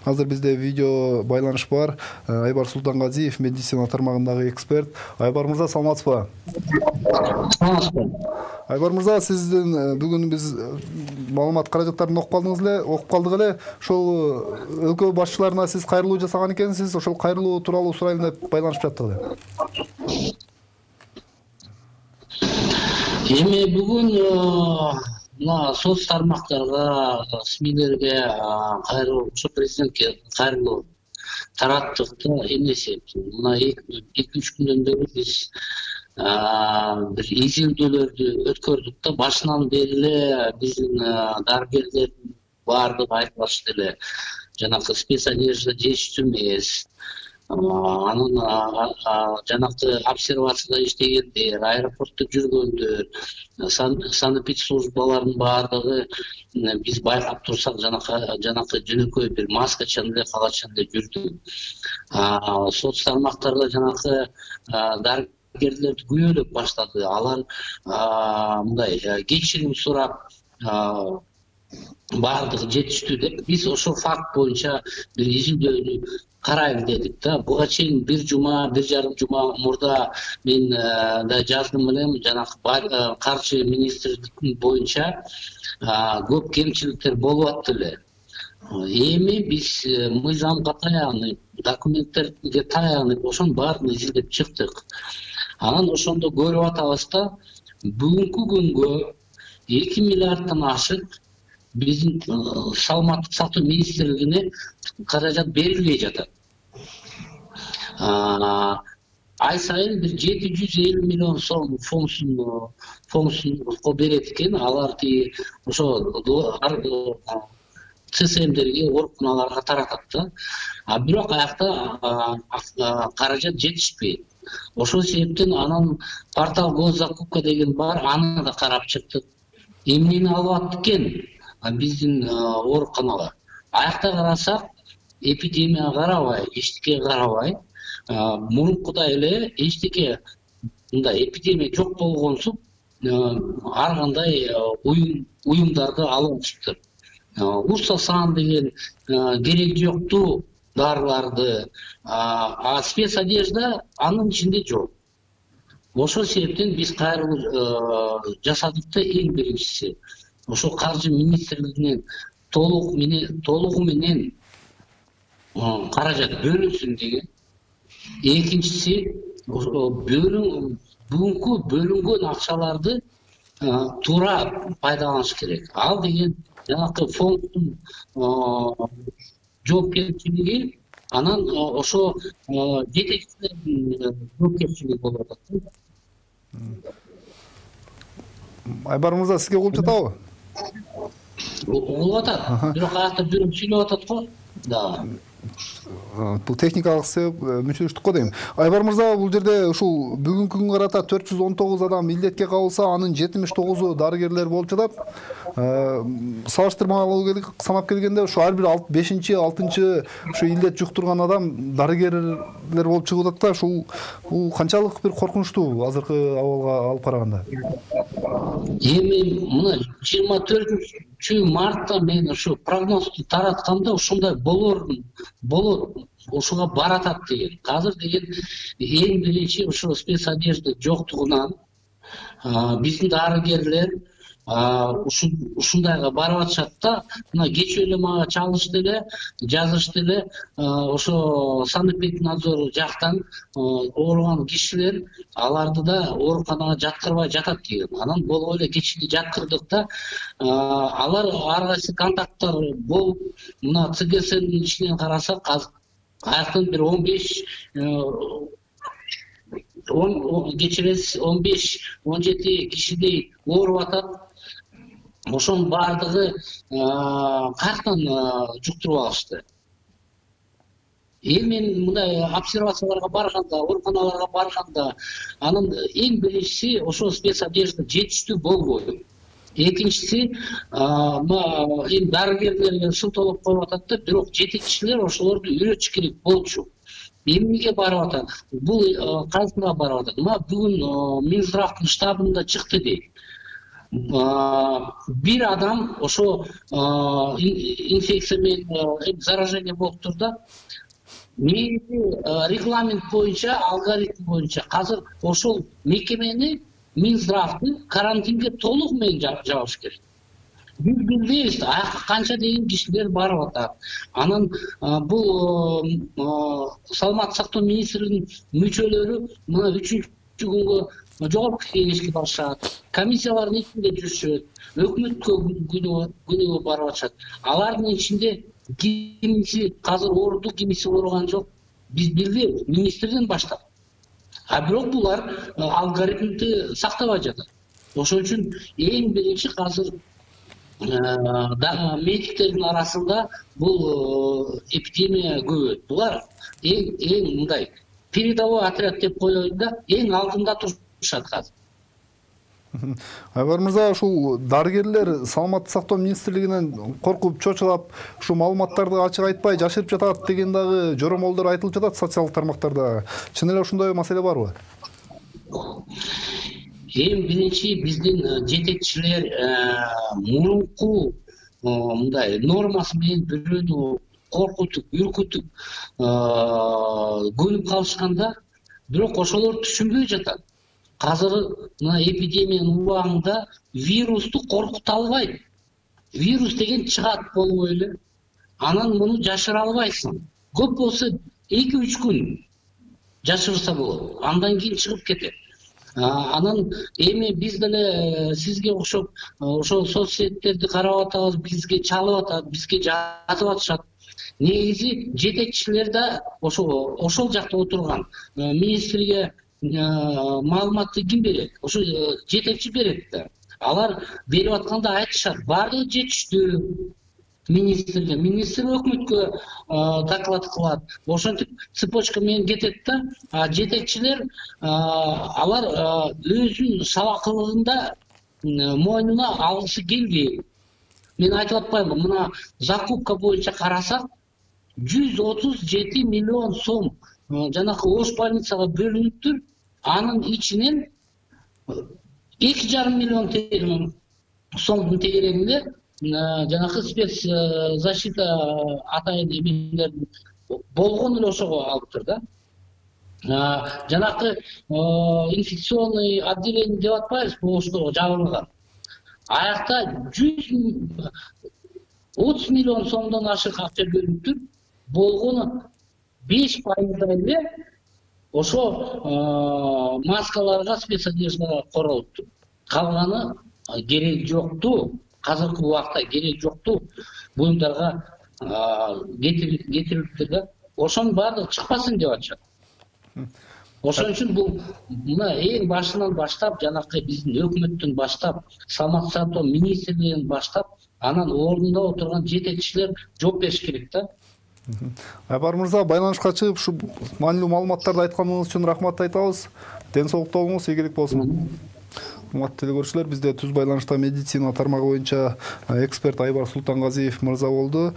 Азыр бизде видео байланыш бар. Айбар Султангазиев, медицина тармагындагы эксперт. Айбар мырза, саламатсызбы? Айбар мырза, сиздин бүгүн биз маалымат каражаттарын окуп калдык эле. Ошол өлкө башчыларына сиз кайрылуу жасаган экенсиз. Ошол кайрылуу тууралуу сурайлы деп байланышып жаттык эле. Эми бүгүн мына соц тармактарга, СМИлерге кайрылуу, президентке кайрылуу тараттык да эмесе. Мына 2-3 күндөн бери биз бир изилдөөлөрдү өткөрдүк да, башынан бери эле биздин дарыгерлердин баардыгы айтып эле жанагы спецодежда жетиштүү эмес. Анын жанагы обсервацияда иштегендер, аэропортто жүргөндөр, санэпидслужбалардын баардыгы биз байкап турсак жанакы жөнөкөй бир маскачан эле, калачан эле жүрдү. Соц тармактарда жанакы дарыгерлерди күбөлөп баштады. Алар мындай кечирим сурап баардыгы жетиштүү деп, биз ошол факт боюнча бир изилдөөнү карайлы дедик да. Буга чейин бир жарым жума мурда мен да жаздым элем, жанагы каржы министрлиги боюнча көп кемчиликтер болуп атты эле. Эми биз мыйзамга таянып, документтерге таянып, ошонун баарын изилдеп чыктык. Анан ошондо көрүп атабыз да, бүгүнкү күнгө 2 миллиарддан ашык биздин саламаттык сактоо министрлигине каражат берилбей жатат. Ай сайын бир 750 миллион сом фондсунго берет экен. Алар ошо ЦСМдерге, ооруканаларга таратат да. Бирок аякта каражат жетишпейт. Ошол себептен анан портал госзакупка деген бар, аны да карап чыктык. Эмнени алып аттык экен биздин ооруканалар? Аякта карасак, эпидемия карабай, эчтеке карабай, мурункудай эле эчтеке мындай эпидемия жок болгонсуп, ар кандай уюмдарды алып алышыптыр. Урсасан деген кереги жоктуу дарыларды, спецодежда анын ичинде жок. Ошол себептен биз кайрылуу жасадык да. Эң биринчиси ошо каржы министрлигинен толугу менен каражат бөлүнсүн деген. Экинчиси бүгүнкү бөлүнгөн акчаларды туура пайдаланыш керек. Ал деген жанагы фонддун жоопкерчилиги, анан ошо жетекчилердин жоопкерчилиги болуп атат. Айбар мырза, сизге угулуп жатабы? Угулуп атат. Бирок аякта бирөө сүйлөп атат го. Да. Бул техникалык себеп мүчүлүштүк дейм. Айбар мырза, бул жерде ушул бүгүнкү күнгө карата 419 адам илдетке кабылса, анын 79-у дарыгерлер болуп жатат. Салыштырмалуу санап келгенде ушу ар бир 5-6-чы ушу илдет жуктурган адам дарыгерлер болуп чыгып атат да. Ушул канчалык бир коркунучтуу азыркы абалга алып караганда? Эми мына 24 мартта мен ушу прогнозду таратканда ушундай болот, ушуга баратат деген. Азыр деген эң биринчи ушу спецодежда жоктугунан биздин дарыгерлер ушундайга барып атышат да. Мына кечээ эле мага чалышты эле, жазышты эле, ошо санэпиднадзор жактан ооруган кишилер аларды да ооруканага жаткырбай жатат деген. Анан болуп эле кечээ жаткырдык да. Алар ар кайсы контакттар болуп, мына ЦГСнин ичинен карасак, аяктан бир 15-17 кишидей ооруп атат. Ошонун баардыгы каяктан жуктуруп алышты. Мен мындай обсервацияларга барганда, ооруканаларга барганда, анын эң биринчиси ошо спецодежда жетиштүү болбойт. Экинчиси, эми дарыгерлерге шылтоолоп коюп атат да, бирок жетекчилер ошолорду үйрөтүш керек болчу. Эмнеге барып атат? Бул кайсыга барып атат? Бүгүн Минздравдын штабында чыкты дейт. бир адам ошо инфекция менен заражение болуптур да. Регламент боюнча, алгоритм боюнча азыр ошол мекемени Минздравды карантинге толук менен жабыш керек. Биз билбейбиз канча деген кишилер барып атат. Анан бул саламаттык сактоо министрлигинин мүчөлөрү мына 3-күнгө жогорку кеңешке барышат, комиссиялардын ичинде жүрүшөт, өкмөткө күнүгө барып атышат. Алардын ичинде кимиси азыр ооруду, кимиси ооруган жок. Биз билбейбиз, министрден баштап. Бирок булар алгоритмди сактабай жатат. Ошон үчүн эң биринчи азыр медиктердин арасында бул эпидемия көбөйөт. Булар эң мындай передовой отряд деп коелу да, эң алдында турушат азыр. Айбар мырза, ушул дарыгерлер саламаттык сактоо министрлигинен коркуп, чочулап, ушу маалыматтарды ачык айтпай жашырып жатат деген дагы жоромолдор айтылып жатат социалдык тармактарда. Чын эле ошондой маселе барбы? Эң биринчи биздин жетекчилер мурунку мындай нормасы менен бирөөнү коркутуп, үркүтүп көнүп калышканда, бирок ошолор түшүнбөй жатат. Азыр мына эпидемиянын убагында вирусту коркута албайт. Вирус деген чыгат болбой эле. Анан муну жашыра албайсың. Көп болсо 2-3 күн жашырса болот. Андан кийин чыгып кетет. Анан эми биз деле сизге окшоп ошол соцсеттерди карап атабыз, бизге чалып атат, бизге жазып атышат. Негизи жетекчилер да ошол жакта отурган. Министрге маалыматты ким берет? Ошо жетекчи берет да. Алар берип атканда айтышат, баардыгы жетиштүү министрге. Министр өкмөткө доклад кылат. Ошентип цепочка менен кетет да. Жетекчилер алар өзүнүн сабакылыгында мойнуна алгысы келбейт. Мен айтып атпаймынбы, мына закупка боюнча карасак 137 миллион сом жанакы ош больницага бөлүнүптүр. Анын ичинен 2,5 миллион сомдун тегерегинде жанакы спецзащита атайын эмелердин болгон эле ошого алыптыр да. Жанакы инфекционный отделение деп атпайбызбы, ошого жабылган. Аякта 30 миллион сомдон ашык акча бөлүнүптүр. Болгону 5% эле ошо маскаларга, спецодеждага королуптур. Калганы керек жокту. Азыркы убакта керек жокту буюмдарга кетириптир да. Ошонун баардыгы чыкпасын деп атышат. Ошон үчүн бул мына эң башынан баштап, жанакы биздин өкмөттөн баштап, саламаттык сактоо министрлигинен баштап, анан ордунда отурган жетекчилер жооп бериш керек да. Айбар мырза, байланышка чыгып, ушу маанилүү маалыматтарды айтканыңыз үчүн рахмат айтабыз. Ден соолукта болуңуз, ийгилик болсун. Урматтуу теле көрүүчүлөр, бизде түз байланышта медицина тармагы боюнча эксперт Айбар Султангазиев мырза болду.